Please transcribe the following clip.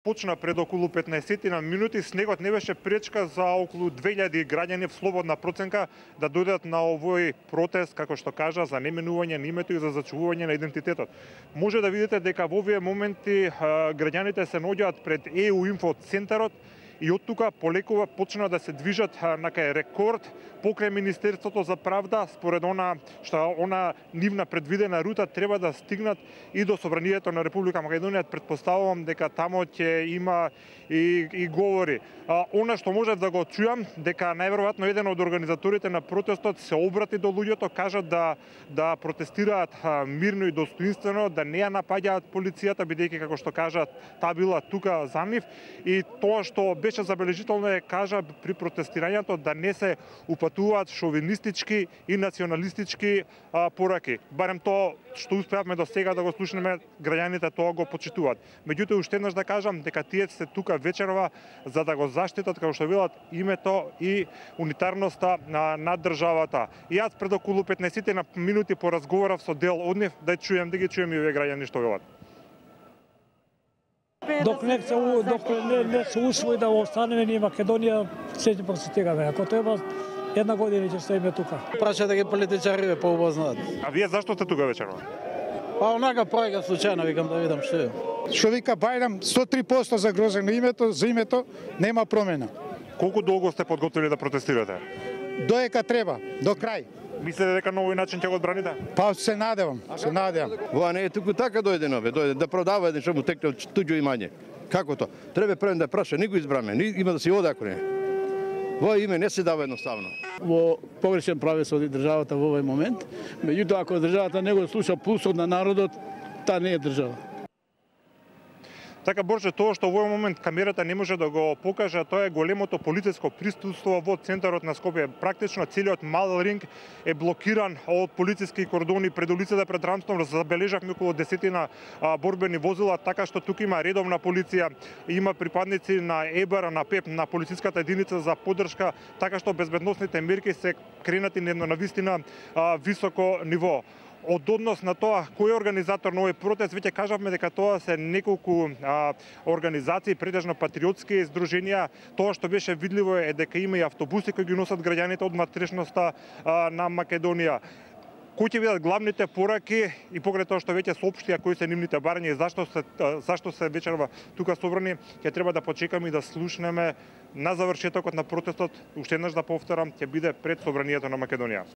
Почна пред околу 15 на минути, снегот не беше пречка за околу 2000 граѓани в слободна проценка да дојдат на овој протест, како што кажа, за неменување на името и за зачувување на идентитетот. Може да видите дека во овие моменти граѓаните се наоѓаат пред ЕУ Инфо центарот и од тука полекува почна да се движат на кај рекорд покрај Министерството за правда, според она нивна предвидена рута треба да стигнат и до Собранието на Република Македонија. Претпоставувам дека тамо ќе има и говори. Она што може да го чујам, дека најверојатно еден од организаторите на протестот се обрати до луѓето, кажа да протестираат мирно и достоинствено, да не ја напаѓаат полицијата, бидејќи како што кажат, таа била тука за нив, и тоа што беше забележително е, кажа, при протестирањето да не се упатуваат шовинистички и националистички пораки. Барем тоа што успеавме до сега да го слушнеме, граѓаните тоа го почитуваат. Меѓутоа, уште еднаш да кажам дека тие се тука вечерва за да го заштитат, како што велат, името и унитарноста на државата. И јас пред околу 15 на минути поразговарав со дел од нив, да ги чуjem и овие граѓани што велат. Док не се усвои да останеме ни Македонија, се ќе просетигаме. Ако треба, една година ќе стоиме тука. Праша да ги политичари поубаво знаат. А вие зашто сте тука вечерва? Па онака пројка случајно, викам да видам што е. Што вика Бајрам, 103% загрозено името, за името нема промена. Колку долго сте подготвили да протестирате? Доека треба, до крај. Мислите дека на овој начин ќе го одбраните? Па се надевам, се надевам. Ова не е туку така дојдено, дојде да продава еден што му текне туѓо имање. Како то? Треба пред да праша, ни го избраме, има да си оде ако не. Во име не се дава едноставно. Во погрешен правец оди државата во овој момент, меѓутоа ако државата не го слуша пулсот на народот, таа не е држава. Така, Борче, тоа што во овој момент камерата не може да го покаже, тоа е големото полициско присуство во центарот на Скопје. Практично целиот мал ринг е блокиран од полициски кордони пред улицата пред Рамстон. Забележавме околу 10 борбени возила, така што тука има редовна полиција, има припадници на ЕБР, на ПЕП, на полициската единица за поддршка, така што безбедносните мерки се кренати на навистина високо ниво. Од однос на тоа кој е организатор на овој протест, веќе кажавме дека тоа се неколку организации, претежно патриотски здруженија. Тоа што беше видливо е дека има и автобуси кои ги носат граѓаните од матрешноста на Македонија. Кои ќе бидат главните пораки и покрај тоа што веќе соопштија кои се нивните барања и зашто се вечерва тука собрани, ќе треба да почекаме и да слушнеме на завршетокот на протестот. Уште еднаш да повторам, ќе биде пред Собранието на Македонија.